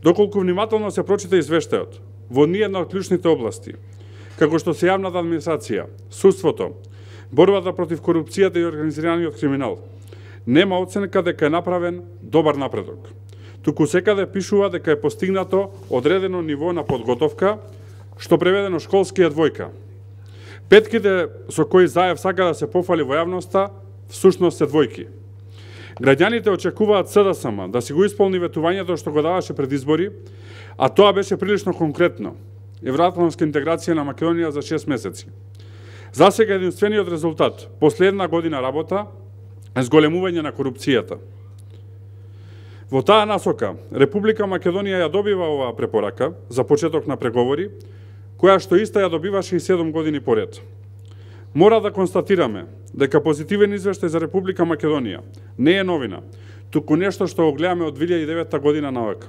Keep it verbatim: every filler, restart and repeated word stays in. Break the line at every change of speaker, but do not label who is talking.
Доколку внимателно се прочита извештајот, во ниедна од клучните области, како што се јавната администрација, судството, борбата против корупцијата и организираниот криминал, нема оценка дека е направен добар напредок. Туку секаде пишува дека е постигнато одредено ниво на подготовка, што преведено школски е двојка. Петките со кои Заев сака да се пофали во јавноста, всушност се двојки. Граѓаните очекуваат СДСМ да си го исполни ветувањето што го даваше пред избори, а тоа беше прилично конкретно. Евроатлантска интеграција на Македонија за шест месеци. За сега единствениот резултат, последна година работа, е зголемување на корупцијата. Во таа насока, Република Македонија ја добива оваа препорака за почеток на преговори, која што иста ја добиваше и седум години поред. Мора да констатираме дека позитивен извештај за Република Македонија не е новина, туку нешто што го гледаме од две илјади и девета година навака.